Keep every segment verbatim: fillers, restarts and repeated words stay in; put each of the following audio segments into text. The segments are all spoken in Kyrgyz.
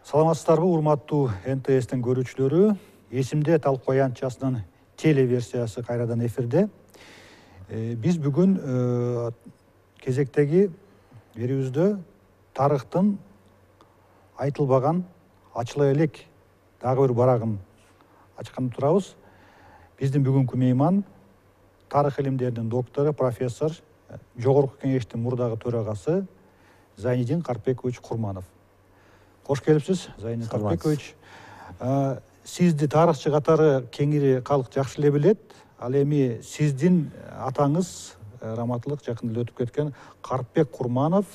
Саламатсыздарбы, урматтуу эн тэ эстин көрүүчүлөрү. Эсимде талкуу аянтчасынын телеверсиясы кайрадан эфирде. Биз бүгүн кезектеги берүүбүздө тарыхтын айтылбаган, ачыла элек дагы бир барагын ачкан турабыз. Биздин бүгүнкү мейман тарых илимдеринин доктору, профессор, жогорку кеңештин мурдагы төрагасы Зайнидин Карпекович Курманов. Хош келипсиз, Зайнидин Карпекович. Сизди тарыхчы катары кеңири калк жакшы эле билет. Ал эми сиздин атаңыз раматылык жакында эле өтүп кеткен Карпек Курманов,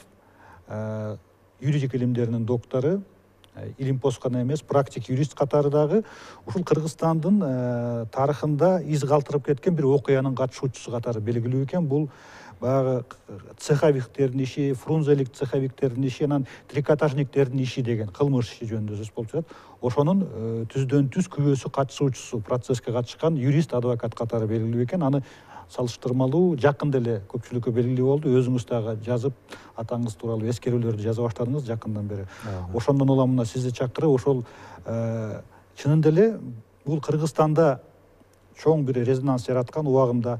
юридик илимдеринин доктору, илимпоз гана эмес, практик юрист катары дагы ушул Кыргызстандын тарыхында из калтырып кеткен бир окуянын катышуучусу катары белгилүү экен. Бул баягы цеховиктердин иши, фрунзелик цеховиктердин иши, анан трикотажниктердин иши деген кылмыш иши жөнүндө сөз болуп жатат. Ошонун түздөн түз күбөсү, катышуучусу, процесске катышкан юрист, адвокат катары белгилүү экен. Аны салыштырмалуу жакында эле көпчүлүккө белгилүү болду. Өзүңүз дагы жазып, атаңыз тууралуу эскерүүлөрдү жаза баштадыңыз жакындан бери. Ошондон улам мына сизди чакырып, ошол чынында эле бул Кыргызстанда чоң бир резонанс жараткан убагында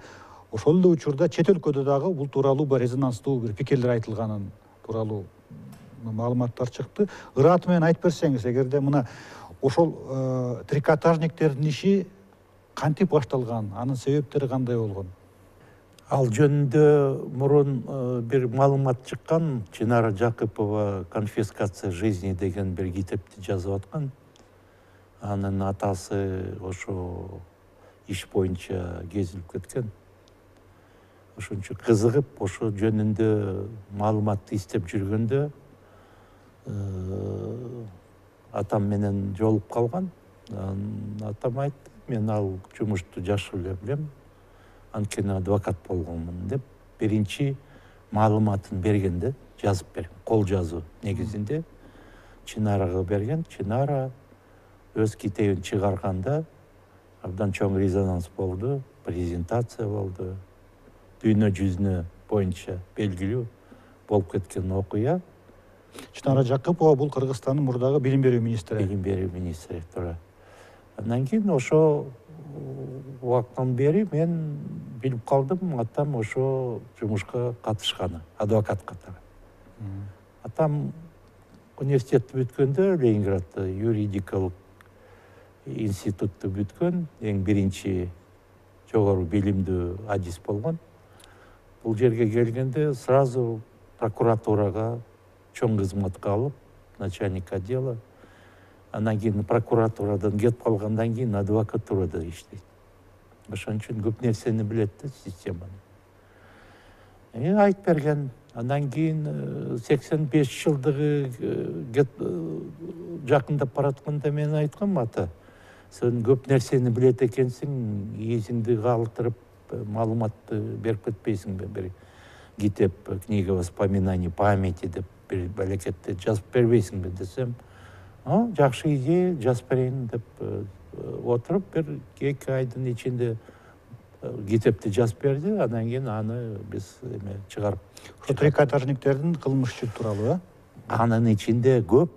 ошол эле учурда чет өлкөдө дагы бул тууралуу бир резонанстуу бир пикирлер айтылганын тууралуу маалыматтар чыкты. Ыраты менен айтып берсеңиз, эгерде мына ошол трикотажниктердин иши кантип башталган, анын себептери кандай болгон? Ал жөнүндө мурун бир маалымат чыккан. Чынара Жакыпова «Конфискация жизни» деген бир китепти жазып аткан. Анын атасы ошо иш боюнча кезилип кеткен. Ошончо кызыгып, ошо жөнүндө маалыматты издеп жүргөндө атам менен жолугуп калган. Атам айтты, мен ал жумушту жакшы эле билем, анткени адвокат болгонмун деп биринчи маалыматын берген да, жазып берген, кол жазуу негизинде Чынарага берген. Чынара өз китебин чыгарганда абдан чоң резонанс болду, презентация болду. Дүйнө жүзүнө боюнча белгилүү болуп кеткен окуя. Чынара Жакыпова бул Кыргызстандын мурдагы билим берүү министри. Билим берүү министри, туура. Андан кийин ошо убакыттан бери мен билип калдым, атам ошо жумушка катышканы, адвокат катары. Атам университетти бүткөндө Ленинградда юридикалык институтту бүткөн, эң биринчи жогору билимдүү адис болгон. Бул жерге келгенде сразу прокуратурага чоң кызматка алып, начальник отдела. Андан кийин прокуратурадан кетип калгандан кийин адвокатурада иштейт. Ошон үчүн көп нерсени билет да, системаны. Э айтып берген. Андан кийин сексен беш жылдыгы жакындап баратканда мен айткам, ата, сен көп нерсени билет экенсиң, эсиңди калтырып, маалыматты берип кетпейсиңби? Бир китеп, книга воспоминаний памяти деп бир балекетти жазып бербейсиңби десем, а жакшы идея, жазып берейин деп отуруп, бир эки айдын ичинде китепти жазып берди. Андан кийин аны биз эме чыгарып. Ошо трикотажниктердин кылмышы тууралуу, э? Анын ичинде көп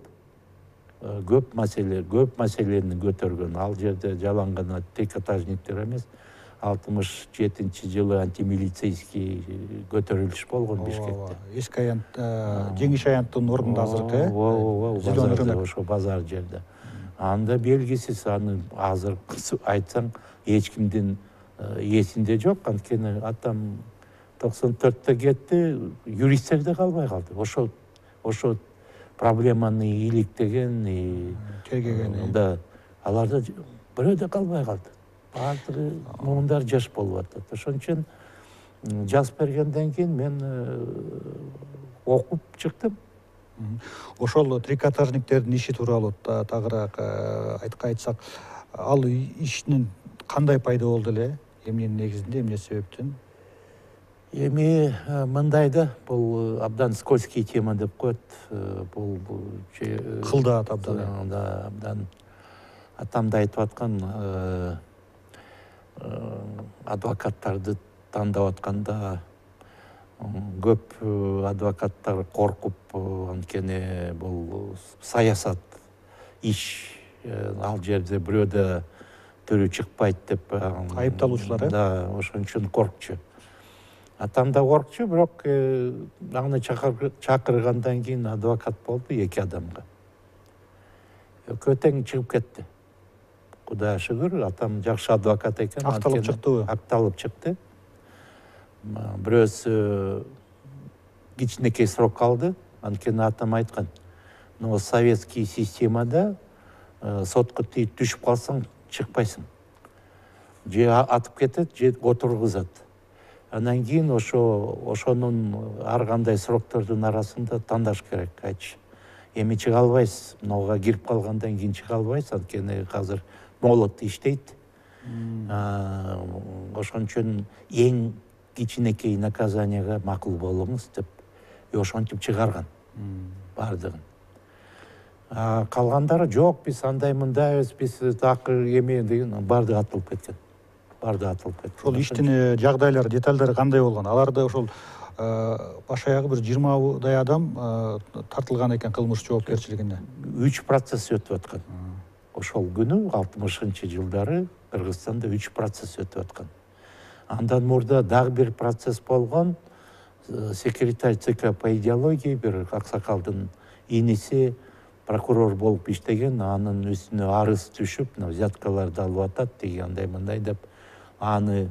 көп маселе, көп маселени көтөргөн. Ал жерде жалаң гана трикотажниктер эмес, алтымыш жетинчи жылы антимилицейский көтөрүлүш болгон Бишкекте. Эски аянт, Жеңиш аянттын ордунда азыркы, э? Ооба, ошо базар жерде. Анда белгисиз, аны азыр айтсаң эч кимдин эсинде жок, анткени атам токсон төрттө кетти, юристтер да калбай калды. Ошо ошо проблеманы иликтеген, тергеген. Да, аларда бирөө да калбай калды. Баардыгы муундар жаш болуп атат. Ошон үчүн жазып бергенден кийин мен окуп чыктым. Ошол трикотажниктердин иши тууралуу тагыраак айтсак, ал иштин кандай пайда болду эле? Эмненин негизинде, эмне себептен? эми мындай да, бул абдан скользкий тема деп коет. Бул кылдаат абдан. Да, абдан атамда айтып аткан адвокаттарды тандап атканда көп адвокаттар коркуп, анткени бул саясат иш, ал жерде бирөөдө төрү чыкпайт деп айыпталуучулар, э? Да, ошон үчүн коркчу. Атам да коркчу, бирок аны чакыргандан кийин адвокат болду эки адамга. Экөө тең чыгып кетти. Кудайга шүгүр, атам жакшы адвокат экен. Акталып чыктыбы? Акталып чыкты. Бирөөсү кичинекей срок алды. Анткени атам айткан, но советский системада сотко тийип түшүп калсаң чыкпайсың. Же атып кетет, же отургузат. Андан кийин ошо ошонун ар кандай сроктордун арасында тандаш керек, айтчы. Эми чыга албайсыз, мынауга кирип калгандан кийин чыга албайсыз, анткени азыр молот иштейт. Ошон үчүн эң кичинекей наказанияга макул болуңуз деп, ошентип чыгарган бардыгын. Калгандары жок, биз андай мындайбыз, биз такыр эме деген бардыгы атылып кеткен. Барды атылып кетти. Ошол иштин жагдайлары, детальдары кандай болгон? Аларда ошол баш аягы бир жыйырмадай адам тартылган экен кылмыш жоопкерчилигине. Үч процесс өтүп аткан. Ошол күнү алтымышынчы жылдары Кыргызстанда үч процесс өтүп аткан. Андан мурда дагы бир процесс болгон. Секретарь ЦК по идеологии бир аксакалдын иниси прокурор болуп иштеген, анын үстүнө арыз түшүп, взяткаларды алып атат деген андай мындай деп аны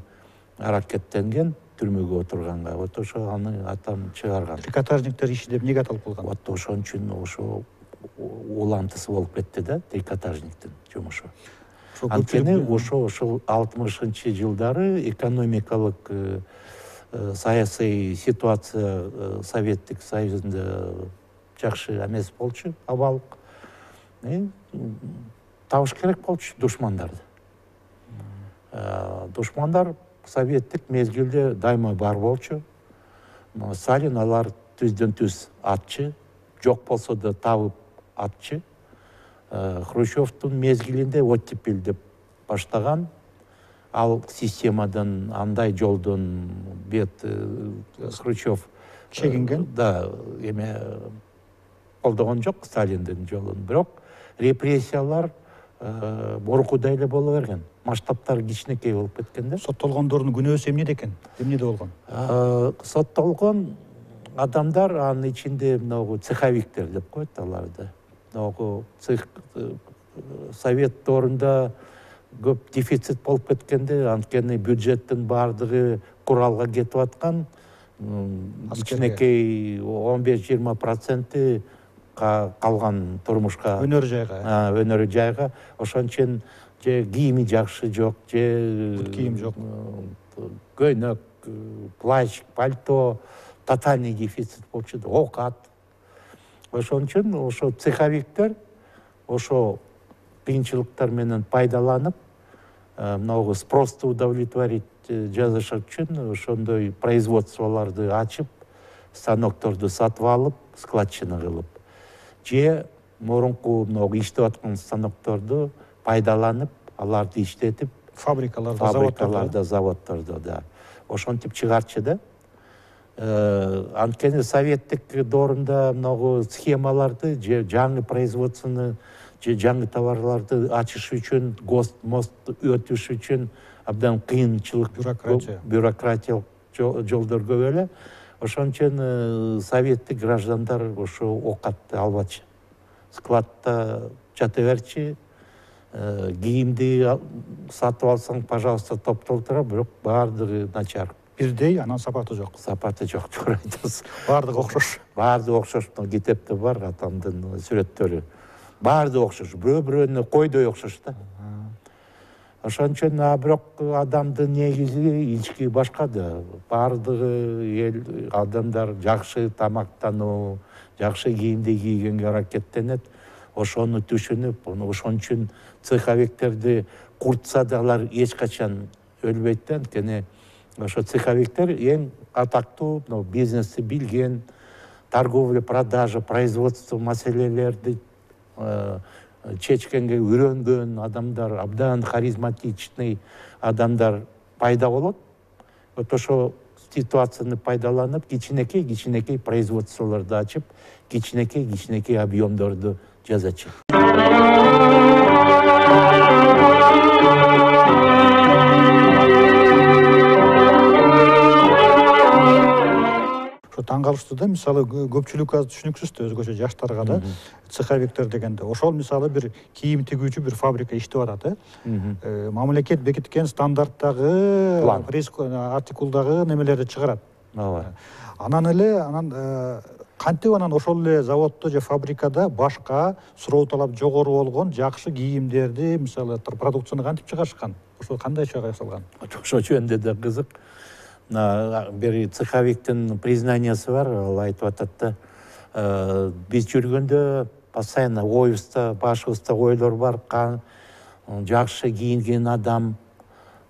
аракеттенген түрмөгө отурганга. Вот ошо аны атам чыгарган. Трикотажниктер иши деп эмнеге аталып калган? Вот ошон үчүн ошо улантысы болуп кетти да, трикотажниктин жумушу. Анткени ошо ошол алтымышынчы жылдары экономикалык саясий ситуация Советтик Союзунда жакшы эмес болчу, абалык. Табыш керек болчу душмандарды. Душмандар советтик мезгилде дайыма бар болчу. Сталин алар түздөн түз атчы, жок болсо да табып атчы. Хрущевдун мезгилинде оттепель деп баштаган. Ал системадан, андай жолдон бет Хрущев чегинген. Да, эме колдогон жок Сталиндин жолун, бирок репрессиялар борукудай эле боло берген. Масштабтары кичинекей болуп кеткен да. Соттолгондордун күнөөсү эмнеде экен? Эмнеде болгон? Соттолгон адамдар анын ичинде мынагу цеховиктер деп коет аларды. Мынагу цех совет доорунда көп дефицит болуп кеткенде, анткени бюджеттин баардыгы куралга кетип аткан, кичинекей он беш жыйырма проценти калган турмушка, өнөр жайга. Өнөр жайга. Ошон үчүн же кийими жакшы жок, же кийим жок, көйнөк, плащ, пальто, тотальный дефицит болчу, окат. Ошон үчүн ошо цеховиктер ошо кыйынчылыктар менен пайдаланып, мынагу спросту удовлетворить жазыш үчүн ошондой производстволорду ачып, станокторду сатып алып, складчина кылып, же мурунку мынагу иштеп аткан станокторду пайдаланып, аларды иштетип, фабрикаларда, фабрикаларда, заводдордо, да. Ошентип чыгарчы да. Анткени советтик доорунда мынагу схемаларды, же жаңы производствону, же жаңы товарларды ачыш үчүн, гост, мост өтүш үчүн абдан кыйынчылык, бюрократия, бюрократиялык жолдор көп эле. Ошон үчүн советтик граждандар ошо окатты албачы. Складта жата берчи, кийимди сатып алсаң, пожалуйста, топтолтура, бирок баардыгы начар. Бирдей, анан сапаты жок. Сапаты жок, туура айтасыз. Баардыгы окшош. Баардыгы окшош. Китепте бар атамдын сүрөттөрү. Баардыгы окшош. Бирөө-бирөөүнө койдой окшош да. Ошон үчүн бирок адамдын негизи ички башка да. Баардыгы эл адамдар жакшы тамактануу, жакшы кийимди кийгенге аракеттенет. Ошону түшүнүп, ошон үчүн цеховиктерди куртса да алар эч качан өлбөйт да, анткени ошо цеховиктер эң атактуу мына бизнести билген, торговля, продажа, производство маселелерди чечкенге үйрөнгөн адамдар, абдан харизматичный адамдар пайда болот. Вот ошо ситуацияны пайдаланып, кичинекей кичинекей производстволорду ачып, кичинекей кичинекей объемдорду жасачу. Таң калыштуу да, мисалы көпчүлүк азыр түшүнүксүз да өзгөчө жаштарга да цеховиктер дегенде. Ошол мисалы бир кийим тигүүчү бир фабрика иштеп атат, э. Мамлекет бекиткен стандарттагы артикулдагы немелерди чыгарат. Ооба. Анан эле анан кантип анан ошол эле заводдо же фабрикада башка суроо талап жогору болгон жакшы кийимдерди, мисалы продукцияны кантип чыгарышкан? Ошол кандайча жасалган? Ошо жөнүндө да кызык. Бир цеховиктин признаниясы бар, ал айтып атат да, биз жүргөндө постоянно оюбузда, башыбызда ойлор бар, жакшы кийинген адам,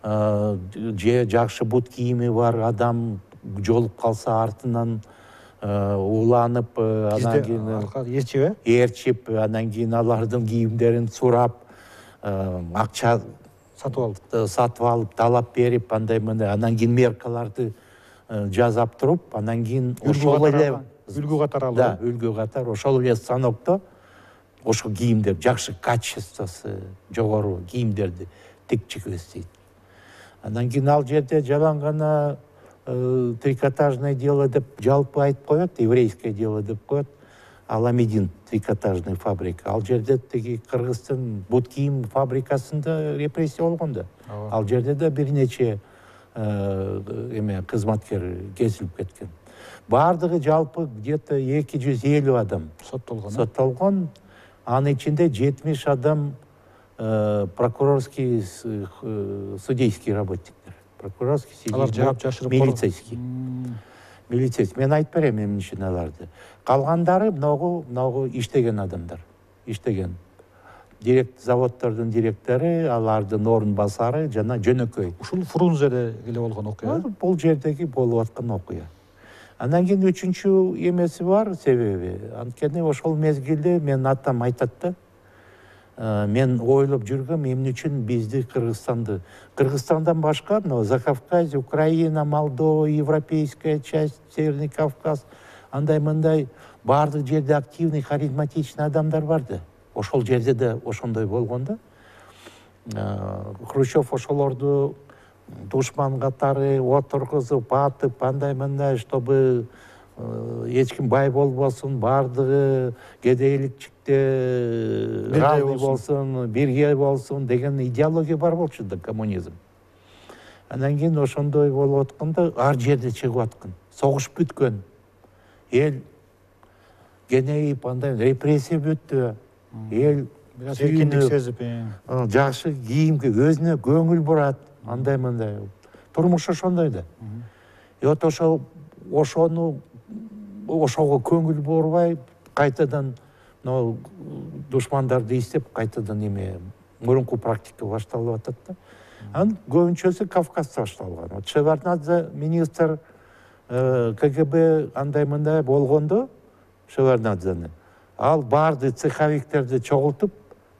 же жакшы бут кийими бар адам жолуп калса артынан уланып, анан кийин эрчип, эрчип, анан кийин алардын кийимдерин сурап, акча сатып алып, сатып алып, талап берип, андай мындай, анан кийин меркаларды жазап туруп, анан кийин ошол эле үлгү катары алып, да, үлгү катары ошол эле станокто ошол кийимдер, жакшы качествосы жогору кийимдерди тикчип эстейт. Анан кийин ал жерде жалаң гана трикотажное дело деп жалпы айтып коет, еврейское дело деп коет. Аламедин трикотажный фабрика. Ал жерде теги Кыргыздын бут кийим фабрикасында репрессия болгон да. Ал жерде да бир нече эме кызматкер кесилип кеткен. Бардыгы жалпы где-то эки жүз элүү адам соттолгон. Соттолгон. Анын ичинде жетимиш адам прокурорский, судейский работниктер. Прокурорский, судейский, милицейский. Милицейский. Мен айтып берем эмне үчүн аларды. Калгандары многу многу иштеген адамдар. Иштеген. Директ заводдордун директору, алардын орун басары жана жөнөкөй. Ушул Фрунзеде эле болгон окуя. Бул жердеги болуп аткан окуя. Андан кийин үчүнчү эмеси бар, себеби. Анткени ошол мезгилде мен атам айтат да, мен ойлоп жүргөм эмне үчүн бизди Кыргызстанды, Кыргызстандан башка, но Закавказье, Украина, Молдова, европейская часть, Северный Кавказ, андай мындай бардык жерде активный, харизматичный адамдар барды. Ошол жерде да ошондой болгон да. Хрущев ошолорду душман катары отургузуп, атып, андай мындай, чтобы эч ким бай болбосун, бардыгы кедейликчикте равный болсун, бирге болсун деген идеология бар болчу да, коммунизм. Анан кийин ошондой болуп атканда ар жерде чыгып аткан. Согуш бүткөн. Эл кенейип, андай репрессия бүттү. Эл эркиндик сезип, жакшы кийимге өзүнө көңүл бурат, андай мындай. Турмуш ошондой да. И вот ошо ошону ошого көңүл бурбай, кайтадан душмандарды издеп, кайтадан эме мурунку практика башталып атат да. Анын көбүнчөсү Кавказда башталган. Вот Шеварднадзе министр КГБ андай мындай болгондо, Шеварднадзени, ал барды цеховиктерди чогултуп,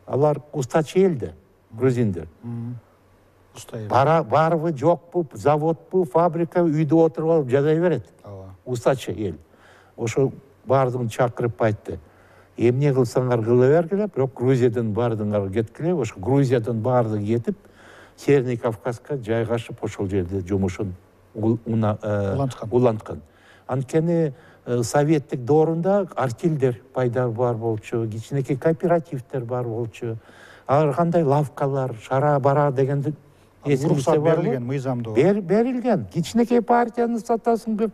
алар устачы эл да, грузиндер. Барбы, жокпу, заводпу, фабрика, үйдө отуруп алып жазай берет. Устачы эл. Ошо бардыгын чакырып айтты. Эмне кылсаңар кыла бергиле, бирок Грузиядан бардыңар кеткиле. Ошо Грузиядан бардыгы кетип, Северный Кавказга жайгашып, ошол жерде жумушун уланткан. Анткени советтик доорунда артелдер пайда бар болчу, кичинекей кооперативдер бар болчу. Ар кандай лавкалар, шара бара дегенди уруксат берилген, мыйзамдуу. Берилген. Кичинекей партияны сатасың бир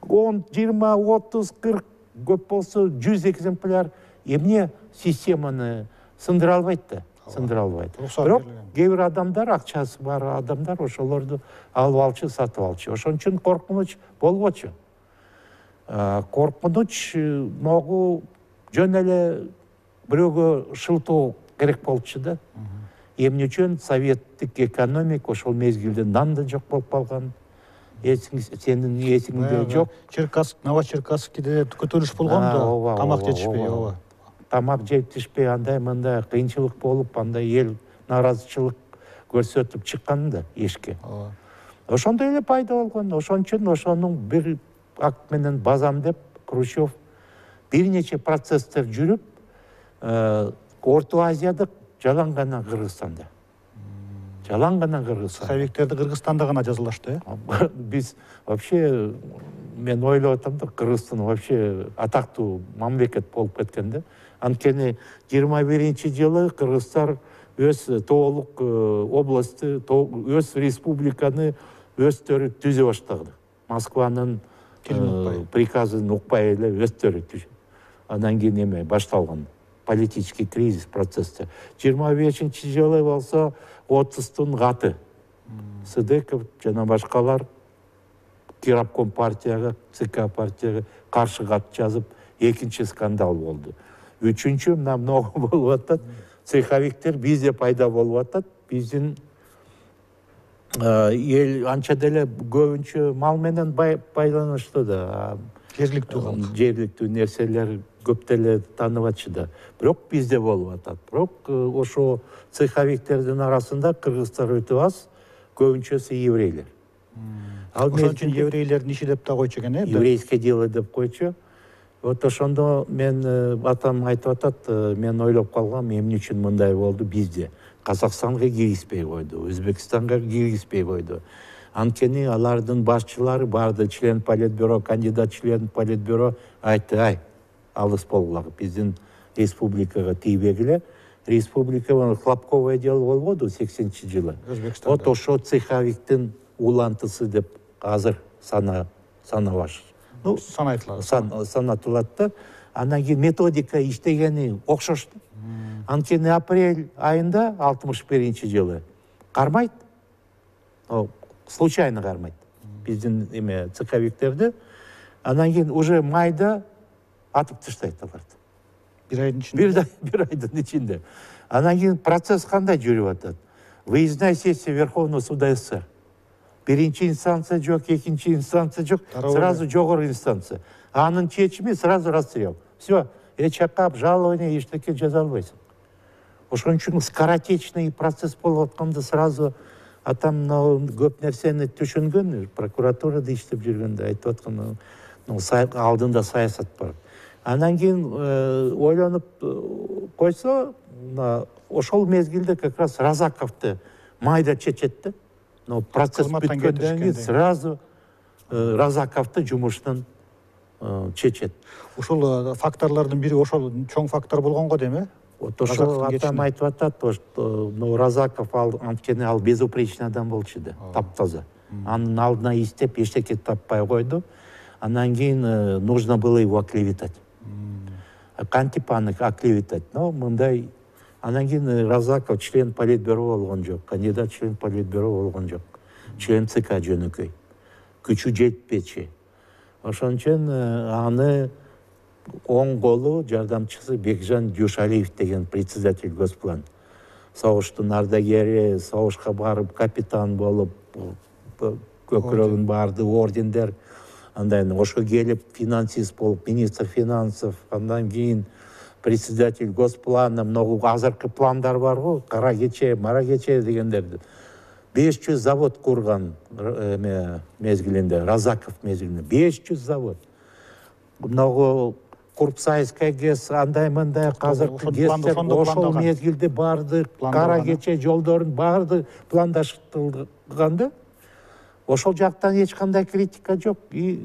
он, жыйырма, отуз, кырк, көп болсо жүз экземпляр. Эмне системаны сындыра албайт да, сындыра албайт. Бирок кээ бир адамдар, акчасы бар адамдар ошолорду алып алчу, сатып алчу. Ошон үчүн коркунуч болбочу. Коркунуч могу жөн эле бирөөгө шылтоо керек болчу да. Эмне үчүн советтик экономика ошол мезгилде нан да жок болуп калган. эсиң сенин эсиңде жок. Черкасск, Новочеркасскиде көтөрүлүш болгон да, тамак жетишпей, ооба. Тамак жетишпей, андай мындай кыйынчылык болуп, андай эл нааразычылык көрсөтүп чыккан да эшикке. Ооба. Ошондой эле пайда болгон. Ошон үчүн ошонун бир акт менен базам деп Хрущев бир нече процесстер жүрүп, Орто Азияда жалаң гана Кыргызстанда. Жалаң гана Кыргызстанда. Цеховиктерди Кыргызстанда гана жазалашты, э? Биз вообще, мен ойлоп атам да, Кыргызстан вообще атактуу мамлекет болуп кеткен да. Анткени жыйырма биринчи жылы кыргыздар өз тоолук областты, өз республиканы өздөрү түзө баштады. Москванын приказын укпай эле өздөрү түзүп. Андан кийин эме башталган политический кризис процесси. жыйырма бешинчи жылы болсо отуздун каты. Сыдыков жана башкалар Кирабком партияга, ЦК партияга каршы кат жазып, экинчи скандал болду. Үчүнчү мына много болуп атат. Цеховиктер бизде пайда болуп атат. Биздин эл анча деле көбүнчө мал менен байланыштуу да. Жергиликтүү калк. Жергиликтүү нерселер көп деле таанып атчы да. Бирок бизде болуп атат. Бирок ошо цеховиктердин арасында кыргыздар өтө аз, көбүнчөсү еврейлер. Ошон үчүн еврейлердин иши деп да койчу экен, э? Еврейское дело деп койчу. Вот ошондо мен атам айтып атат, мен ойлоп калгам, эмне үчүн мындай болду бизде. Казакстанга киргизбей койду, Өзбекстанга киргизбей койду. Анткени алардын башчылары барды, член политбюро, кандидат член политбюро айтты, ай, алыс болгула, биздин республикага тийбегиле. Республика хлопковое дело болбоду сексенинчи жылы. Өзбекстанда. Вот ошо цеховиктин улантысы деп азыр сана санабаш. Ну, санайтылат. Санатылат да. Андан кийин методика иштегени окшош. Анткени апрель айында алтымыш биринчи жылы кармайт. Случайно кармайт. Биздин эме цеховиктерди. Андан кийин уже майда атып таштайт аларды. Бир айдын ичинде. Бир айдын ичинде. Андан кийин процесс кандай жүрүп атат? Выездная сессия Верховного суда СССР. Биринчи инстанция жок, экинчи инстанция жок, сразу жогору инстанция. Анын чечими сразу расстрел. Все, эчакап, жалование, эчтеке жаза албайсың. Ошон үчүн скоротечный процесс болуп атканда сразу атам көп нерсени түшүнгөн, прокуратурада иштеп жүргөндө айтып аткан, алдында саясат бар. Андан кийин ойлонуп койсо, ошол мезгилде как раз Разаковду майда чечет да. Но процесс бүткөндөн кийин сразу Разаковду жумуштан чечет. Ошол факторлордун бири ошол чоң фактор болгонго дейм, э? Вот ошол атам айтып атат, но Разаков анткени ал безупречный адам болчу да, таптаза. Анын алдына иштеп эчтеке таппай койду. Андан кийин нужно было его оклеветать. Кантип аны оклеветать, но мындай. Андан кийин Разаков член политбюро болгон жок, кандидат член политбюро болгон жок. Член ЦК жөнөкөй. Күчү жетпечи. Ошон үчүн аны оң колу жардамчысы Бекжан Дюшалиев деген председатель Госплан. Согуштун ардагери, согушка барып капитан болуп, көкүрөгүн барды, ордендер. Андан ошо келип финансист болуп, министр финансов, андан кийин председатель Госплана, много азыркы пландар бар го, кара кече, мара кече дегендерди. беш жүз завод курган мезгилинде, Разаков мезгилинде, беш жүз завод. Много Курпсайская ГЭС, андай мындай азыркы ГЭСтер ошол мезгилде барды, кара кече жолдорун барды пландаштырылган да. Ошол жактан эч кандай критика жок. И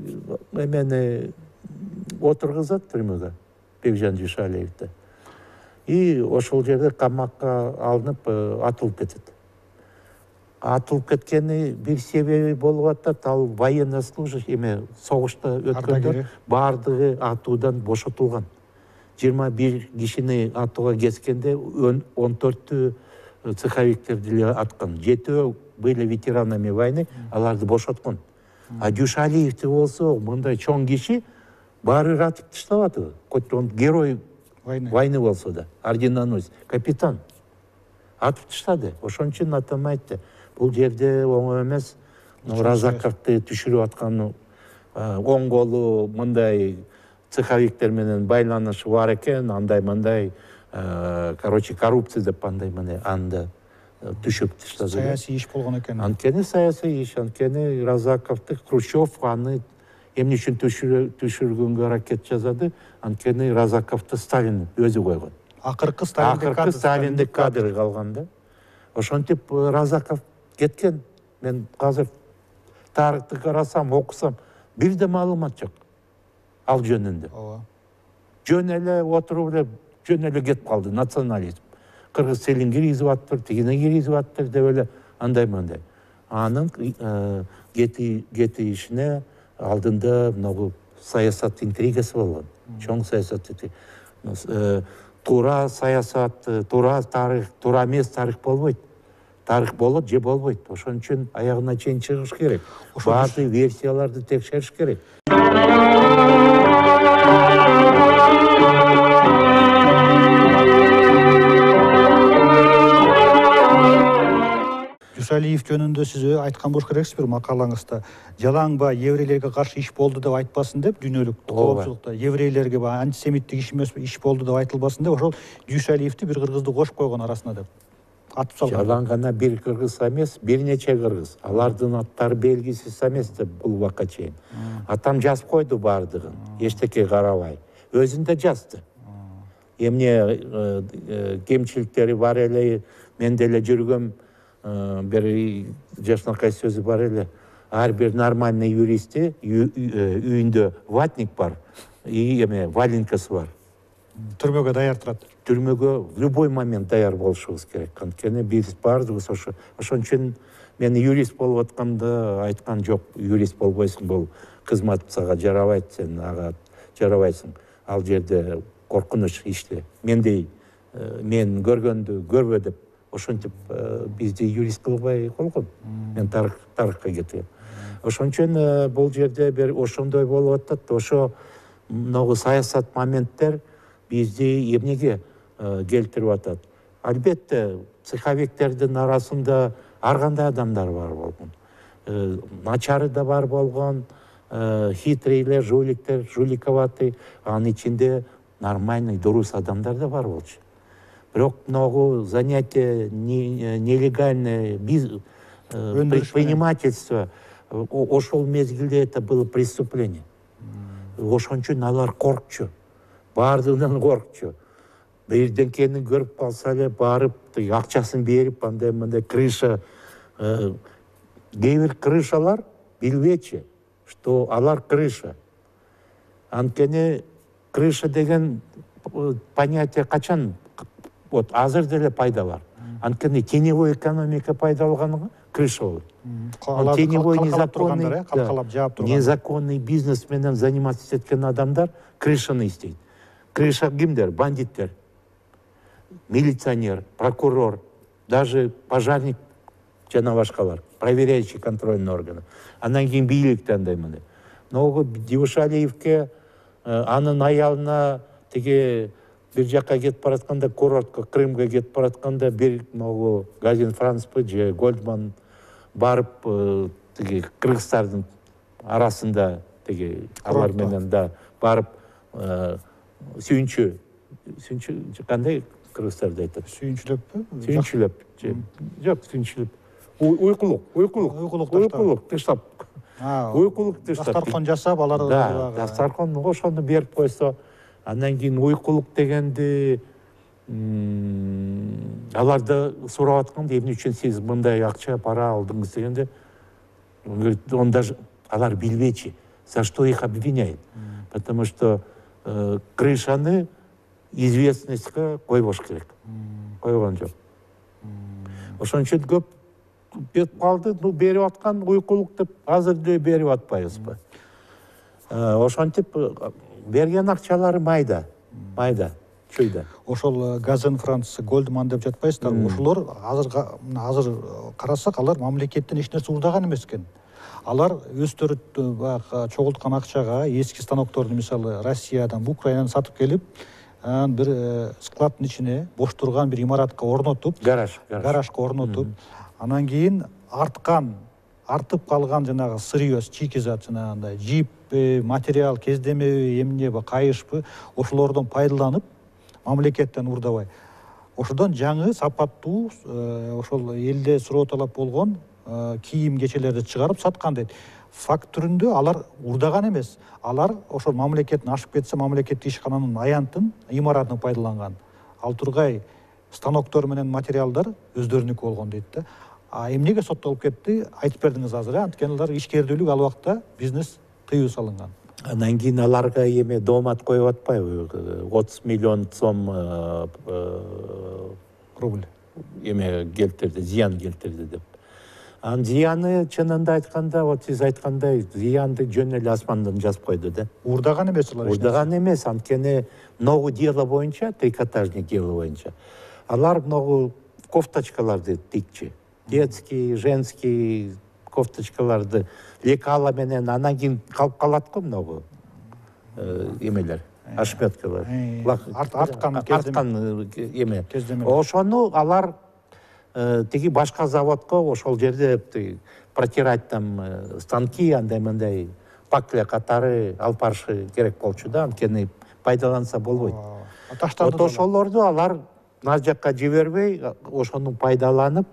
эмени отургузат түрмөгө. Бекжан Дюшалиевди. И ошол жерде камакка алынып атылып кетет. Атылып кеткени бир себеби болуп атат, ал военнослужащий эме согушта өткөндөр бардыгы атуудан бошотулган. жыйырма бир кишини атууга кеткенде он төртү цеховиктерди эле аткан. Жетөө были ветеранами войны, аларды бошоткон. А Дюшалиевди болсо мындай чоң киши баары атып таштабады. Хоть он герой войны болсо да, орденоносец, капитан. Атып таштады. Ошон үчүн атам айтты, бул жерде оңой эмес, Разаковду түшүрүп аткан оң колу мындай цеховиктер менен байланышы бар экен, андай мындай, короче, коррупция деп андай мына анда түшүп таштады. Саясий иш болгон экен. Анткени саясий иш, анткени Разаковду Хрущев аны эмне үчүн түшүргөнгө аракет жасады? Анткени Разаковду Сталин өзү койгон. Акыркы Сталиндик кадр, Сталиндик кадр калган да. Ошентип Разаков кеткен. Мен азыр тарыхты карасам, окусам, бир да маалымат жок ал жөнүндө. Ооба. Жөн эле отуруп эле, жөн эле кетип калды национализм. Кыргыз элин киргизип аттыр, тигине киргизип аттыр деп эле андай мындай. Анын кети кетишине алдында могу саясат интригасы болгон. Чоң саясат. Туура саясат, туура тарых, туура эмес тарых болбойт. Тарых болот же болбойт. Ошон үчүн аягына чейин чыгыш керек. Баардык версияларды текшериш керек. Дүйсалиев жөнүндө сиз айткан болуш керексиз бир макалаңызда. Жалаңба еврейлерге каршы иш болду деп айтпасын деп, дүйнөлүк коопчулукта еврейлерге антисемиттик иш эмес иш болду деп айтылбасын деп, ошол Дүйсалиевди бир кыргызды кошуп койгон арасына деп атып салган. Жалаң гана бир кыргыз эмес, бир нече кыргыз. Алардын аттары белгисиз эмес деп бул убакка чейин. Атам жазып койду баардыгын, эчтеке карабай. Өзүн да жазды. Эмне кемчиликтери бар эле, мен деле жүргөм, бир жашынакай сөзү бар эле. Ар бир нормальный юристти үйүндө ватник бар, и эме валенкасы бар. Түрмөгө даяр турат. Түрмөгө в любой момент даяр болушубуз керек. Анткени биз баардыгыбыз ошо. Ошон үчүн мен юрист болуп атканда айткан жок, юрист болбойсуң, бул кызмат сага жарабайт, сен ага жарабайсың. Ал жерде коркунуч иште. Мендей мен көргөндү көрбө деп ошентип бизди юрист кылбай койгон. Мен тарых тарыхка кетем. Ошон үчүн бул жерде бир ошондой болуп атат. Ошо могу саясат моменттер бизди эмнеге келтирип атат. Албетте, цеховиктердин арасында ар кандай адамдар бар болгон. Начары да бар болгон, хитрийлер, жуликтер, жуликоватый, анын ичинде нормальный, дурус адамдар да бар болчу. Бирок могу занятие нелегальное предпринимательство, ошол мезгилде это было преступление. Ошон үчүн алар коркчу. Баардыгынан коркчу. Бирденкени көрүп калса эле барып, акчасын берип, андай мындай крыша, кээ бир крышалар билбечи, что алар крыша. Анткени крыша деген понятие качан, вот азыр деле пайда бар. Анткени теневой экономика пайда болгонго крыша болот. Теневой незаконный, незаконный бизнес менен заниматься эткен адамдар крышаны издейт. Крыша кимдер? Бандиттер, милиционер, прокурор, даже пожарник жана башкалар, проверяющий контрольный органы. Андан кийин бийлик андай мындай. Но Дүйсалиевке анын аялына тиги бир жакка кетип баратканда, курортко, Крымга кетип баратканда бир могу Газин Францпы же Гольдман барып тиги кыргыздардын арасында тиги алар менен да барып сүйүнчү сүйүнчү кандай кыргыздарда айтат? Сүйүнчүлөппү? Сүйүнчүлөп. Жок, сүйүнчүлөп. Уйкулук, уйкулук, уйкулук таштап. Уйкулук таштап. Дастаркон жасап, алар да, дастаркон ошону берип койсо, андан кийин уйкулук дегенди аларды сурап атканда, эмне үчүн сиз мындай акча, пара алдыңыз дегенде, он даже алар билбечи, за что их обвиняют. Потому что крышаны известностька койбош керек. Койгон жок. Ошон үчүн көп кетип калды, ну берип аткан уйкулук деп азыр деле берип атпайбызбы? Ошентип берген акчалары майда, майда, чүйдө. Ошол Газен Франц, Гольдман деп жатпайсыздар. Ошолор азыр азыр карасак, алар мамлекеттен эч нерсе уурдаган эмес экен. Алар өздөрү баягы чогулткан акчага эски станокторду мисалы Россиядан, Украинадан сатып келип, бир складдын ичине бош турган бир имаратка орнотуп, гараж, гаражга орнотуп, анан кийин арткан артып калган жанагы сырье, чикизат жанагындай жиппи, материал, кездемеби, эмнеби, кайышпы ошолордон пайдаланып, мамлекеттен урдабай. Ошодон жаңы сапаттуу ошол элде суроо талап болгон кийим кечелерди чыгарып саткан дейт. Факт түрүндө алар урдаган эмес. Алар ошол мамлекеттин ашып кетсе, мамлекеттик ишкананын аянтын, имаратын пайдаланган. Ал тургай станоктор менен материалдар өздөрүнүкү болгон дейт да. А эмнеге соттолуп кетти? Айтып бердиңиз азыр, анткени алар ишкердүүлүк ал убакта бизнес тыюу салынган. Андан кийин аларга эме доомат коюп атпайбы? отуз миллион сом рубль эме келтирди, зыян келтирди деп. Анын зыяны чынында айтканда, вот сиз айткандай, зыянды жөн эле асмандан жазып койду да. Урдаган эмес алар. Урдаган эмес, анткени многу дело боюнча, трикотажный дело боюнча, алар многу кофточкаларды тикчи. Детский, женский кофточкаларды лекала менен анан кийин калып калат го многу эмелер, ошметкалар. Арткан арткан эме. Ошону алар тиги башка заводко ошол жерде протирать там станки, андай мындай пакля катары алып барышы керек болчу да, анткени пайдаланса болбойт. Вот ошолорду алар нар жакка жибербей, ошону пайдаланып,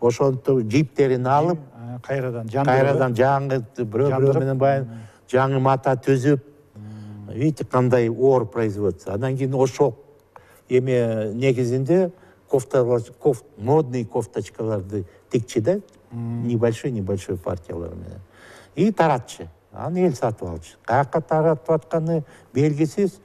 ошонту жиптерин алып, кайрадан кайрадан жаңы бирөө менен баягы жаңы мата түзүп, видите, кандай оор производство. Андан кийин ошол эме негизинде кофта, кофт, модный кофточкаларды тикчи да, небольшой небольшой партиялар менен. И таратчы. Аны эл сатып алчу. Каяка таратып атканы белгисиз.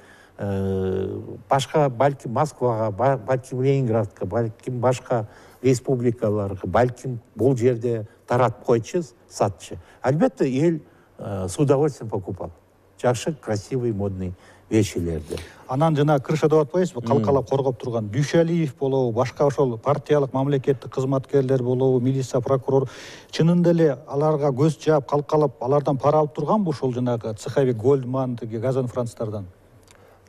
Башка, балким Москвага, балким Ленинградка, балким башка республикаларга, балким бул жерде таратып койчу, сатчы. Албетте эл с удовольствием покупал. Жакшы, красивый, модный вещилерди. Анан жана крыша деп атпайсызбы, калкалап коргоп турган Дүйшалиев болобу, башка ошол партиялык мамлекеттик кызматкерлер болобу, милиция, прокурор, чынында эле аларга көз жаап, калкалап, алардан пара алып турганбы ошол жанагы цеховик Гольдман, тиги Газанфранцтардан?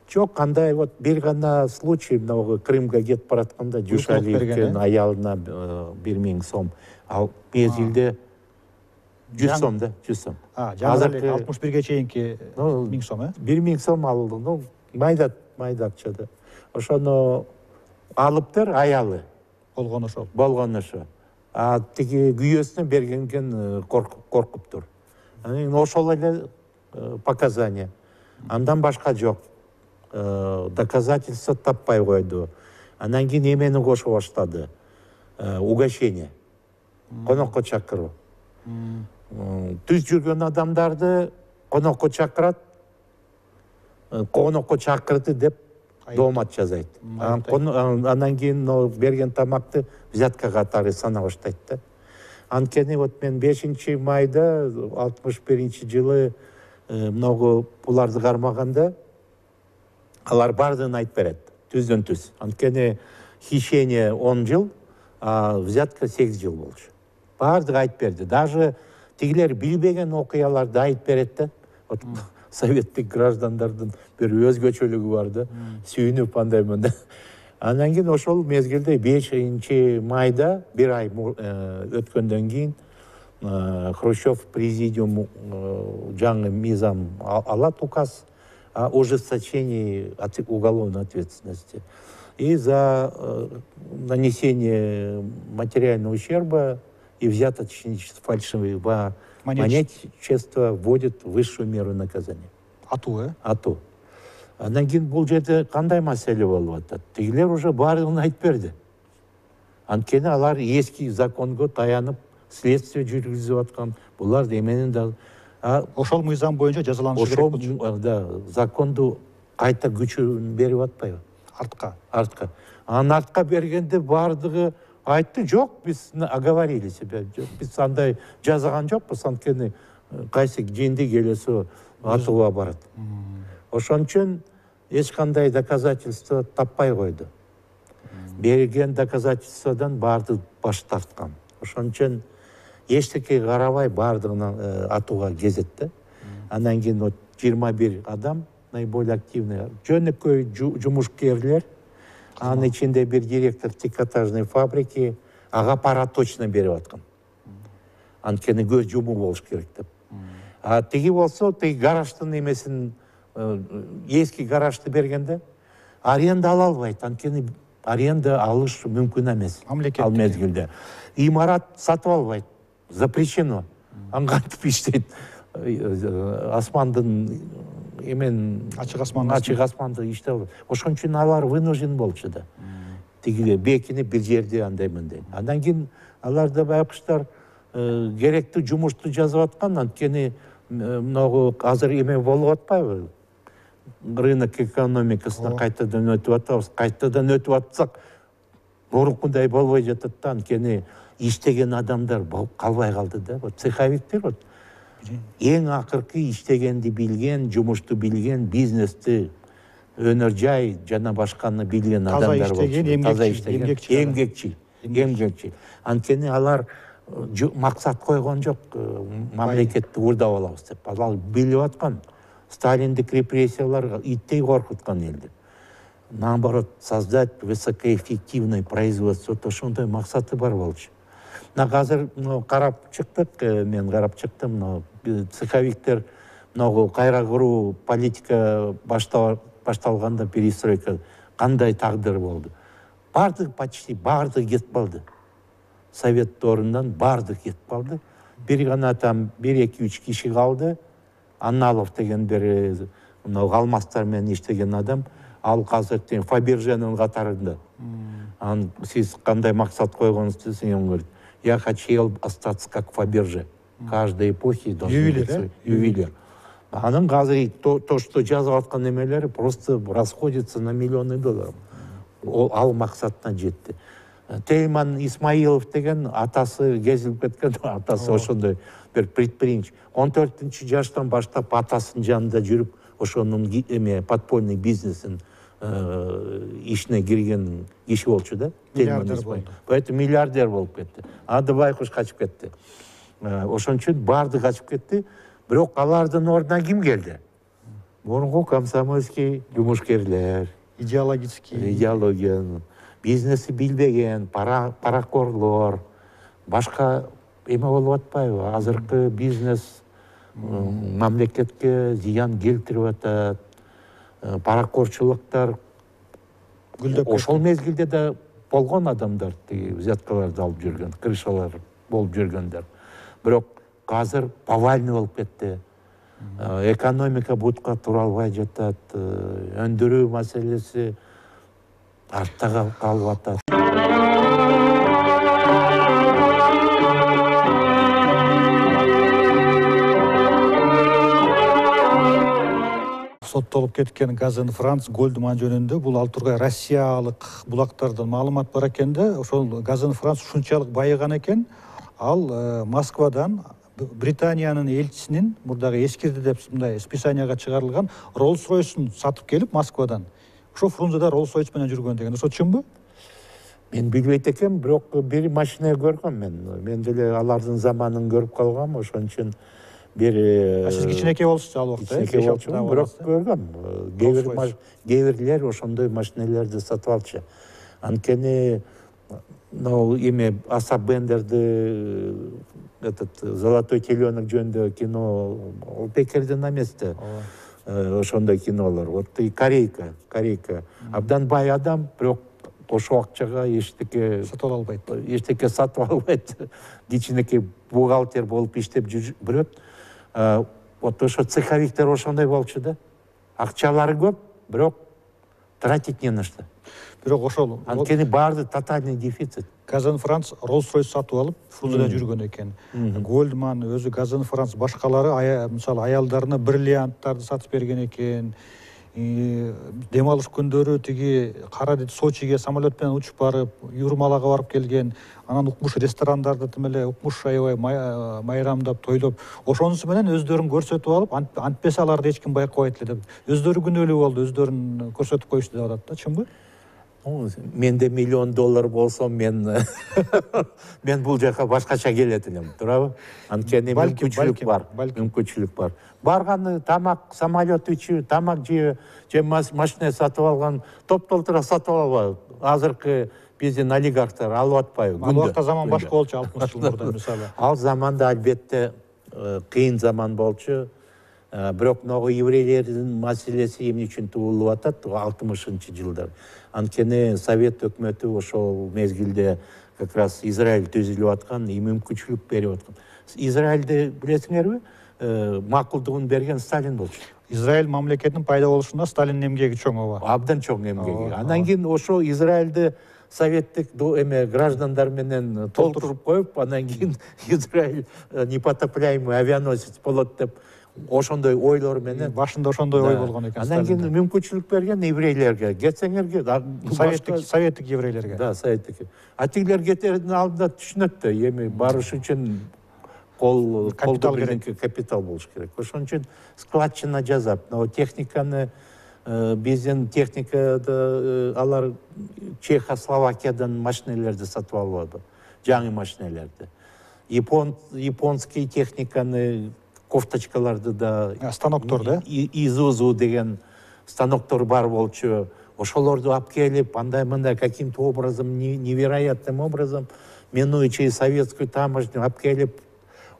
Жок, кандай вот бир гана случай, мынау Крымга кетип баратканда Дүйшалиевдин аялына бир миң сом, ал мезгилде жүз сом да, жүз сом. Азыр алтымыш бирге чейинки миң сом, э? бир миң сом алды, ну, майда, майда акча да. Ошону алыптыр, аялы. Болгон ошол. Болгон ошо. А тиги күйөөсүнө бергенген коркуптур. Анан ошол эле показания. Андан башка жок. Доказательство таппай койду. Анан кийин эмени кошо баштады. Угощение. Конокко чакыруу. Түз жүргөн адамдарды конокко чакырат, конокко чакырды деп доомат жасайт. Анан кийин берген тамакты взятка катары сана баштайт да. Анткени вот мен бешинчи майда алтымыш биринчи жылы многу буларды кармаганда алар бардыгын айтып берет, түздөн түз. Анткени хищение он жыл, а взятка сегиз жыл болчу. Бардыгы айтып берди. Даже тигилер билбеген окуяларды айтып берет да. Вот советтик граждандардын бир өзгөчөлүгү бар да. Сүйүнүп андай мындай. Андан кийин ошол мезгилде бешинчи майда бир ай өткөндөн кийин Хрущев президиум жаңы мыйзам алат, указ о ужесточении уголовной ответственности. И за нанесение материального ущерба и взяточничество, фальшивого монетчества вводит высшую меру наказания. Ату, э? Ату. Андан кийин бул жерде кандай маселе болуп атат? Тигилер уже баардыгын айтып берди. Анткени алар эски законго таянып следствие жүргүзүп аткан. Булар эменин да ошол мыйзам боюнча жазаланышы керек болчу. Ошол да законду кайта күчүн берип атпайбы? Артка. Артка. Анан артка бергенде баардыгы айтты, жок, биз оговорили себя. Биз андай жазаган жокпуз, анткени кайсы жинди келесо атууга барат. Ошон үчүн эч кандай доказательство таппай койду. Берген доказательстводан баардыгы баш тарткан. Ошон үчүн эчтеке карабай баардыгын атууга кезет да. Андан кийин жыйырма бир адам наиболее активный, жөнөкөй жумушкерлер, анын ичинде бир директор трикотажной фабрики ага пара точно берип аткан. анткени көз жумуу болуш керек деп. А тиги болсо тиги гараждын эмесин, эски гаражды бергенде аренда ала албайт, анткени аренда алыш мүмкүн эмес ал мезгилде. Имарат сатып албайт, запрещено. Ан кантип иштейт? Асмандын эмен ачык асман ачык асманды иштеп алат. Ошон үчүн алар вынужден болчу да. Тиги бекинип бир жерде андай мындай. Андан кийин алар да байкуштар керектүү жумушту жазып аткан, анткени могу азыр эме болуп атпайбы? Рынок экономикасына кайтадан өтүп атабыз. Кайтадан өтүп атсак, мурункудай болбой жатат да, анткени иштеген адамдар калбай калды да. Вот цеховиктер вот эң акыркы иштегенди билген, жумушту билген, бизнести, өнөр жай жана башканы билген адамдар болчу. Таза иштеген, эмгекчил, эмгекчил. Анткени алар максат койгон жок, мамлекетти урдап алабыз деп. Алар билип аткан. Сталиндик репрессиялар иттей коркуткан элди. Наоборот, создать высокоэффективное производство, то ошондой максаты бар болчу. На азыр карап чыктык, мен карап чыктым, но цеховиктер могу кайра куруу политика башталганда, перестройка кандай тагдыр болду. Бардык почти бардык кетип калды. Совет орундан бардык кетип калды. Бир гана там бир эки үч киши калды. Анналов деген бир мына алмастар менен иштеген адам, ал азыр тең Фаберженин катарында. Ан сиз кандай максат койгонуңузду десең, говорит: я хотел остаться как Фаберже. Каждой эпохи должен быть ювелир. Анын азыр то, что жазып аткан эмелери просто расходится на миллионы долларов. Ал максатына жетти. Тейман Исмаилов деген атасы кезилип кеткен, атасы ошондой бир предприимчи. он төртүнчү жаштан баштап атасынын жанында жүрүп, ошонун эме подпольный бизнесин ишине кирген киши болчу да. Миллиардер болду. Поэтому миллиардер болуп кетти. Анда байкуш качып кетти. Ошон үчүн барды качып кетти. Бирок алардын ордуна ким келди? Мурунку комсомольский жумушкерлер, идеологический, идеология, бизнеси билбеген, паракорлор, башка эме болуп атпайбы? Азыркы бизнес мамлекетке зыян келтирип атат. Паракорчулуктар ошол мезгилде да болгон адамдар, тиги взяткаларды алып жүргөн, крышалар болуп жүргөндөр. Бирок азыр повальный болуп кетти. Экономика бутка тура албай жатат, өндүрүү маселеси артта калып атат. Соттолуп кеткен Газен Франц Гольдман жөнүндө бул ал тургай Россиялык булактардан маалымат бар экен да, ошол Газен Франц ушунчалык байыган экен, ал Москвадан Британиянын элчисинин мурдагы эскирди деп мындай списанияга чыгарылган Rolls-Royce'ун сатып келип Москвадан. Ошо Фрунзеда Rolls-Royce менен жүргөн деген. Ошо чынбы? Мен билбейт экенмин, бирок бир машина көргөм мен. Мен деле алардын заманын көрүп калгам, ошон үчүн бир сиз кичинекей болсуз ал убакта, э? Кичинекей болчумун, бирок көргөм. Кээ бирлер ошондой машинелерди сатып алчу. Анткени но эме Аса Бендерди, этот «Золотой теленок» жөнүндө кино, ол Пекердин эмеси. Ошондой кинолор. Вот и Корейка, Корейка. Абдан бай адам, бирок ошол акчага эчтеке сатып албайт. Эчтеке сатып албайт. Кичинекей бухгалтер болуп иштеп жүрөт. Вот ошо цеховиктер ошондой болчу да. Акчалары көп, бирок тратить не на что. Бирок ошол анткени баарды тотальный дефицит. Газен Франц Rolls-Royce сатып алып, Фрунзеда жүргөн экен. Гольдман өзү Газен Франц башкалары мисалы аялдарына бриллианттарды сатып берген экен. Дем алыш күндөрү тиги кара Сочиге самолет менен учуп барып, Юрмалага барып келген. Анан укмуш ресторандарда тим эле укмуш аябай майрамдап, тойлоп, ошонусу менен өздөрүн көрсөтүп алып, антпесе аларды эч ким байкабайт эле деп. Өздөрү күнөөлүү болду, өздөрүн көрсөтүп коюшту деп атат да, чынбы? Менде миллион доллар болсо, мен мен бул жака башкача келет элем, туурабы? Анткени мүмкүнчүлүк бар, мүмкүнчүлүк бар. Барганы тамак, самолет үчү, тамак же, же машина сатып алган, топ толтура сатып албайбы. Азыркы биздин олигархтар алып атпайбы? Ал убакта заман башка болчу, алтымыш жыл мурда мисалы. Ал заманда албетте кыйын заман болчу. Бирок могу еврейлердин маселеси эмне үчүн туулуп атат алтымышынчы жылдар. Анткени Совет өкмөтү ошол мезгилде как раз Израиль түзүлүп аткан, мүмкүнчүлүк берип аткан. Израилди билесиңерби? Макулдугун берген Сталин болчу. Израиль мамлекетинин пайда болушунда Сталиндин эмгеги чоң ооба. Абдан чоң эмгеги. Андан кийин ошо Израилди советтик эме граждандар менен толтуруп коюп, андан кийин Израиль непотопляемый авианосец болот деп ошондой ойлор менен башында ошондой ой болгон экен. Андан кийин мүмкүнчүлүк берген еврейлерге, кетсеңерге, советтик советтик еврейлерге. Да, советтик. А тигилер кетердин алдында түшүнөт да, эми барыш үчүн кол капитал керек, капитал болуш керек. Ошон үчүн складчина жасап, но техниканы биздин техникада алар Чехословакиядан машинелерди сатып алып алды, жаңы машинелерди. Япон японский техниканы, кофточкаларды да, станоктор да, Изузу деген станоктор бар болчу. Ошолорду алып келип, андай-мындай каким-то образом, невероятным образом, минуя советскую таможню, алып келип,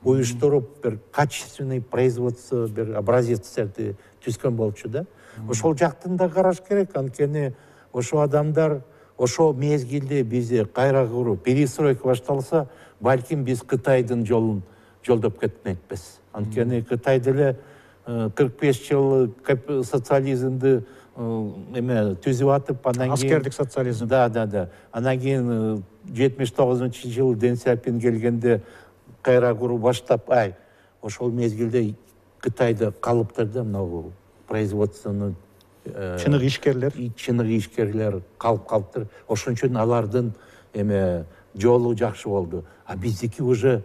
уюштуруп, бир качественный производство, бир образецтерди түзгөн болчу да. Ошол жактын да караш керек, анткени ошо адамдар ошол мезгилде бизди кайра куруу, перестройка башталса, балким биз Кытайдын жолун жолдоп кетмекпиз. Анткени Кытай деле кырк беш жыл социализмди эме түзүп атып, анан кийин аскердик социализм. Да, да, да. Анан кийин жетимиш тогузунчу жылы Дэн Сяопин келгенде кайра куруу баштап, ай, ошол мезгилде Кытайда калыптыр да мынау производствону чынык ишкерлер, чынык ишкерлер калып калыптыр. Ошон үчүн алардын эме жолу жакшы болду. А биздики уже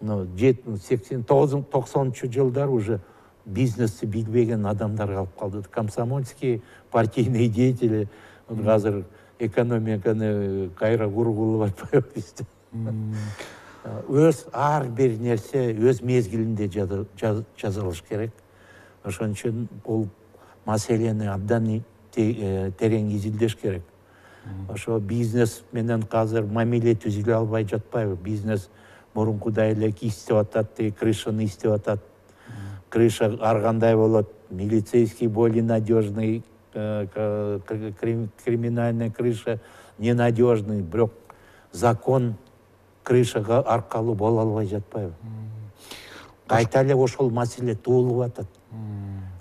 сексен токсонунчу жылдар уже бизнести билбеген адамдар калып калды. Комсомольский, партийный деятели, азыр экономиканы кайра кургулап атпайбы бизде. Өз ар бир нерсе өз мезгилинде жазылыш керек. Ошон үчүн бул маселени абдан терең изилдеш керек. Ошо бизнес менен азыр мамиле түзүлө албай жатпайбы? Бизнес мурункудай эле истеп атат, крышаны истеп атат. Крыша ар кандай болот, милицейский более надежный, криминальная крыша ненадежный, бирок закон крышага аркалуу боло албай жатпайбы? Кайта эле ошол маселе туулуп атат.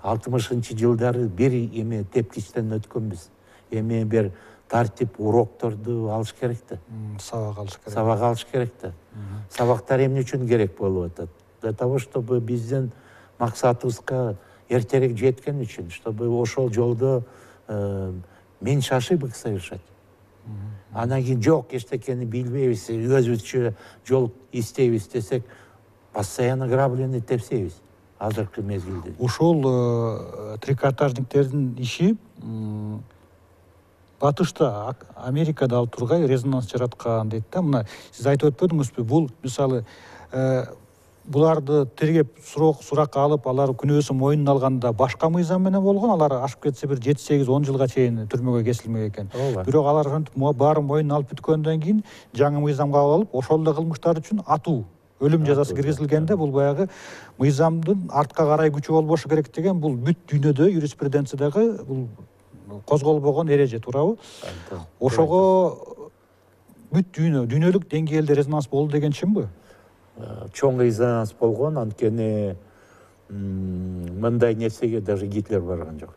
алтымышынчы жылдары бир эме тепкичтен өткөнбүз. Эми бир тартип, урокторду алыш керек да. Сабак алыш керек. Сабак алыш керек да. Сабактар эмне үчүн керек болуп атат? Для того, чтобы биздин максатыбызга эртерээк жеткен үчүн, чтобы ошол жолдо меньше ошибок совершать. Анан кийин жок, эчтекени билбейбиз, өзүбүзчө жол издейбиз десек, постоянно грабленый тепсейбиз. Азыркы мезгилде. Ушул трикотажниктердин иши батышта, Америкада ал тургай резонанс жараткан дейт да. Мына сиз айтып өтпөдүңүзбү? Бул мисалы буларды тергеп сурак суракка алып, алар күнөөсүн мойнуна алганда башка мыйзам менен болгон, алар ашып кетсе бир жети сегиз он жылга чейин түрмөгө кесилмек экен. Бирок алар ошентип баарын мойнуна алып бүткөндөн кийин жаңы мыйзамга алып, ошол эле кылмыштар үчүн атуу, өлүм жазасы киргизилгенде, бул баягы мыйзамдын артка карай күчү болбошу керек деген, бул бүт дүйнөдө юриспруденциядагы бул козголбогон эреже, туурабы? Ошого бүт дүйнө, дүйнөлүк деңгээлде резонанс болду деген чынбы? Чоң резонанс болгон, анткени мындай нерсеге даже Гитлер барган жок.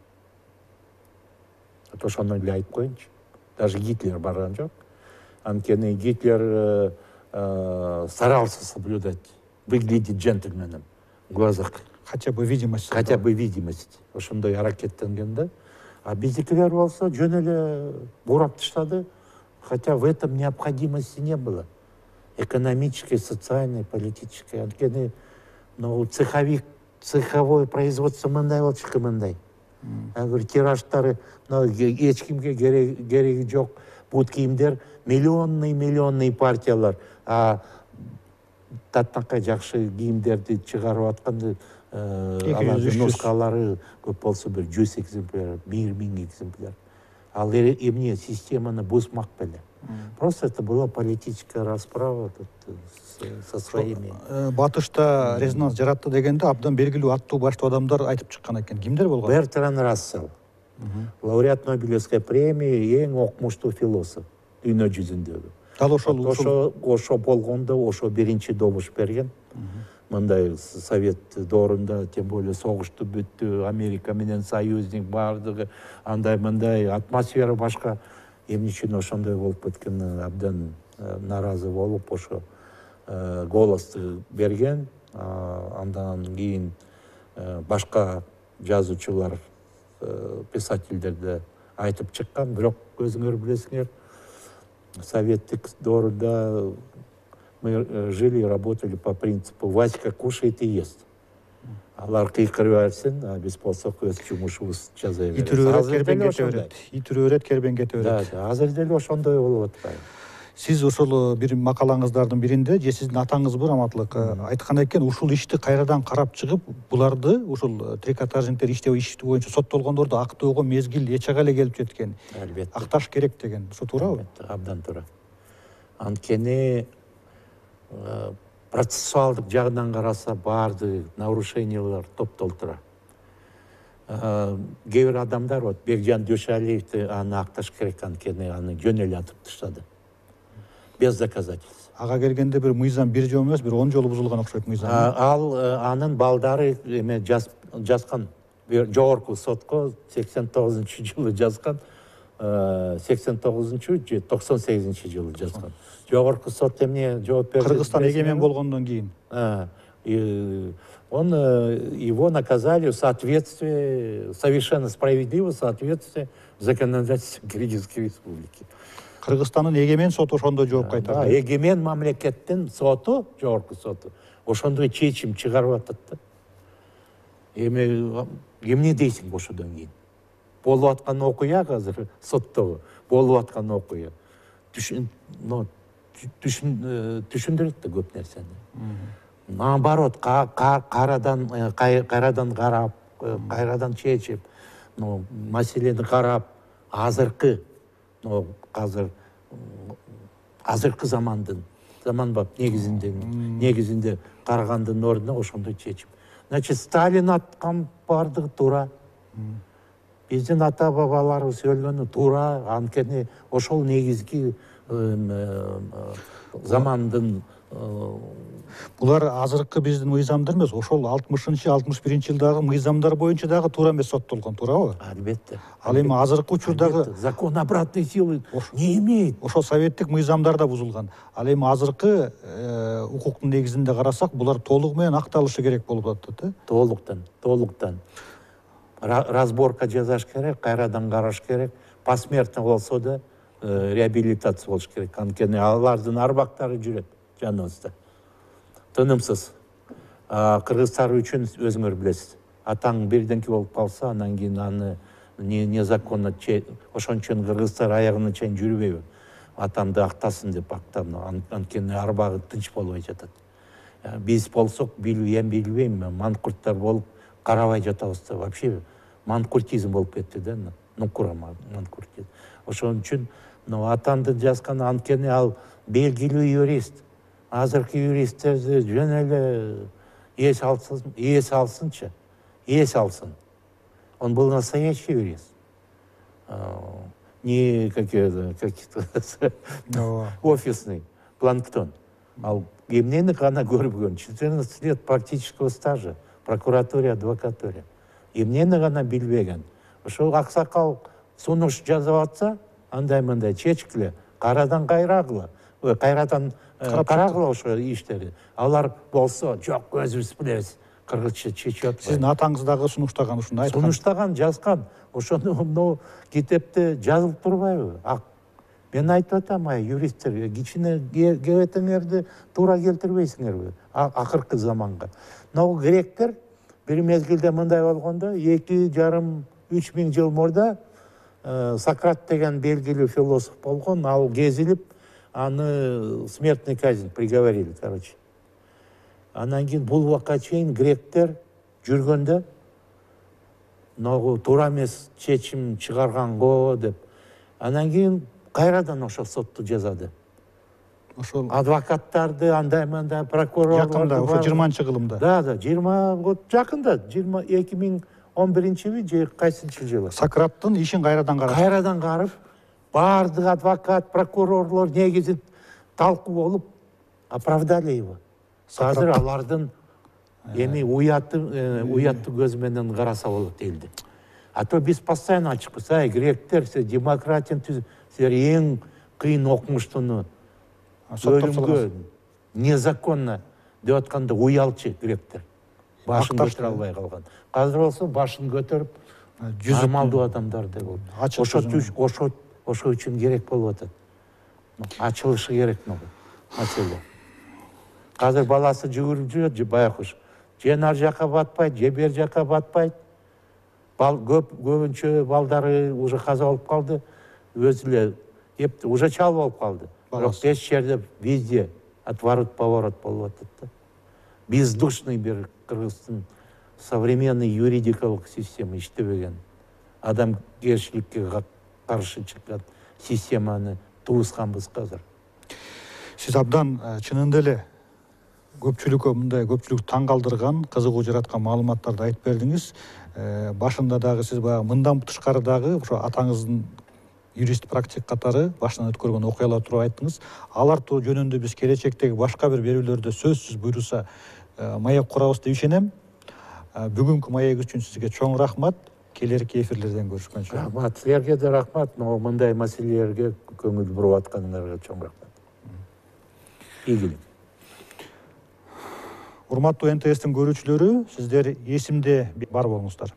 Ошону эле айтып коеюнчу. Даже Гитлер барган жок. Анткени Гитлер старался соблюдать, выглядеть джентльменом в глазах. Хотя бы видимость. Хотя бы видимость. Ошондой аракеттенген да. А биздикилер болсо жөн эле бурап таштады. Хотя в этом необходимости не было. Экономической, социальной, политической. Анткени цеховик, цеховое производство мындай болчу, мындай. Тираждары эч кимге кереги жок. Бут кийимдер миллионный миллионный партиялар. А таттакай жакшы кийимдерди чыгарып атканда алардын нускалары көп болсо бир жүз экземпляр, бир миң экземпляр. ал эмне системаны бузмак беле. Просто это была политическая расправа тут со своими. Батышта резонанс жаратты дегенде абдан белгилүү аттуу баштуу адамдар айтып чыккан экен. Кимдер болгон? Бертран Рассел, лауреат Нобелевской премии, эң окмуштуу философ дүйнө жүзүндөгү. Дал ошол ошо ошо болгондо ошо биринчи добуш берген. Мындай совет доорунда, тем более согушту бүттү, Америка менен союзник бардыгы, андай мындай атмосфера башка. Эмне үчүн ошондой болуп кеткен, абдан нааразы болуп ошо голосду берген. Андан кийин башка жазуучулар, писательдер да айтып чыккан, бирок өзүңөр билесиңер, советтик доорунда мы жили и работали по принципу Васька кушает и ест. Алар кыйкырып берсин, а биз болсок өз жумушубузду жаза беребиз. Ит үрөөрөт кербен кете берет. Ит үрөөрөт кербен кете берет. Да, азыр деле ошондой болуп атпайбы. Сиз ошол бир макалаңыздардын биринде же сиздин атаңыз бир Аматлык айткан экен, ушул ишти кайрадан карап чыгып, буларды ушул трикотажниктер иштөө иш боюнча соттолгондорду актоого мезгил эч ага эле келип жеткен. Албетте. Акташ керек деген. Ушул туурабы? Абдан туура. Анткени процессуалдык жагынан караса баардык нарушениялар топтолуп тура. Кээ бир адамдар вот Бекжан Дүйшалиевди аны акташ керек, анткени аны жөн эле атып таштады. Без доказательств. Ага келгенде бир мыйзам бир жолу эмес, бир он жолу бузулган окшойт мыйзам. Ал анын балдары эме жазган, жогорку сотко сексен тогузунчу жылы жазган, сексен тогузунчу же токсон сегизинчи жылы жазган. Жогорку сот эмне жооп берди? Кыргызстан эгемен болгондон кийин. Он его наказали в соответствии, совершенно справедливо в соответствии с законодательством Кыргызской республики. Кыргызстандын эгемен соту ошондой жооп кайтарды. Эгемен мамлекеттин соту, жогорку соту, ошондой чечим чыгарып атат да. Эми эмне дейсиң ошодон кийин? Болуп аткан окуя азыр соттогу, болуп аткан окуя. Түшүндүрөт да көп нерсени. Наоборот, кайрадан кайрадан карап, кайрадан чечип, маселени карап, азыркы азыр азыркы замандын заманбап негизинде негизинде карагандын ордуна ошондой чечим. Значит, Сталин аткан бардыгы туура. Биздин ата бабаларыбыз өлгөнү туура, анткени ошол негизги замандын. Булар азыркы биздин мыйзамдар эмес, ошол алтымышынчы алтымыш биринчи жылдагы мыйзамдар боюнча дагы туура эмес соттолгон, туурабы? Албетте. Ал эми азыркы учурдагы закон обратной силы не имеет. Ошол советтик мыйзамдар да бузулган. Ал эми азыркы укуктун негизинде карасак, булар толугу менен акталышы керек болуп атат, э? Толуктан, толуктан. Разборка жасаш керек, кайрадан караш керек. Посмертно болсо да реабилитация болуш керек. Анткени алардын арбактары жүрөт жаныбызда. Тынымсыз. Кыргызстар үчүн өзүңөр билесиз. Атаң бирденки болуп калса, анан кийин аны незаконно ошон үчүн кыргыздар аягына чейин жүрбөйбү. Атамды актасын деп актам, анткени арбагы тынч болбой жатат. Биз болсок билбейм, эми билбейм, манкурттар болуп карабай жатабыз да, вообще манкуртизм болуп кетти да, нукура манкуртизм. Ошон үчүн атамды жазган, анткени ал белгилүү юрист. Азыркы юристтерди жөн эле эс алсын, эс алсынчы, эс алсын. Он был настоящий юрист. Не какие-то офисный планктон. Ал эмнени гана көрбөгөн, четырнадцать лет практического стажа, прокуратуре, адвокатуре. Эмнени гана билбеген. Ошол аксакал сунуш жазып атса, андай-мындай чечкиле, кайрадан кайрагыла, кайрадан карагыла ошо иштерди. Алар болсо, жок, өзүбүз билебиз, кыргызча чечип атпайбы. Сиздин атаңыз дагы сунуштаган ушуну айткан. Сунуштаган, жазган. Ошону мына китепте жазылып турбайбы? Мен айтып атам, юристтерге, кичине кебетеңерди туура келтирбейсиңерби акыркы заманга. Могу гректер бир мезгилде мындай болгондо, эки жарым үч миң жыл мурда Сократ деген белгилүү философ болгон, ал кезилип, аны смертный казнь приговорили, короче. Анан кийин бул убакка чейин гректер жүргөндө, могу туура эмес чечим чыгарганго деп Анан кийин кайрадан ошол сотту жазады. Ошол Адвокаттарды андай мындай прокурорлорду жакында, ошо жыйырманчы кылымда. Да, да, жыйырма вот жакында, жыйырма эки миң он биринчиби же кайсынчы жылы. Сократтын ишин кайрадан карап. Кайрадан карып, баардык адвокат, прокурорлор негизи талкуу болуп оправдали его. Азыр алардын эми уятты уяттуу көз менен караса болот элди. А то биз постоянно ачыкпыз, ай гректер, силер демократияны түз, силер эң кыйын окумуштуну өлүмгө незаконно деп атканда уялчы гректер. Башын көтөрө албай калган. Азыр болсо башын көтөрүп, нормалдуу адамдар деп болду. Ошо ошо ошо үчүн керек болуп атат. Ачылышы керек могу маселе. Азыр баласы жүгүрүп жүрөт, же баякуш. Же нар жака батпайт, же бер жака батпайт. Бал көп көбүнчө балдары уже каза болуп калды. Өзү эле эп уже чал болуп калды. Бирок беш жерде везде отворот-поворот болуп атат да. Бездушный бир Кыргыздын современный юридикалык система иштебеген. Адамгерчиликке каршы чыккан системаны тугузганбыз азыр. Сиз абдан чынында эле көпчүлүккө мындай көпчүлүк таң калтырган, кызыгуу жараткан маалыматтарды айтып бердиңиз. Башында дагы сиз баягы мындан тышкары дагы ошо атаңыздын юрист практик катары башынан өткөргөн окуялар тууралуу айттыңыз. Алар жөнүндө биз келечектеги башка бир берүүлөрдө сөзсүз буйруса маек курабыз деп ишенем. Бүгүнкү маек үчүн сизге чоң рахмат. Келерки эфирлерден көрүшкөнчө. Рахмат, силерге да рахмат. Мындай маселелерге көңүл буруп атканыңарга чоң рахмат. Ийгилик. Урматтуу эн тэ эстин көрүүчүлөрү, сиздер эсимде бар болуңуздар.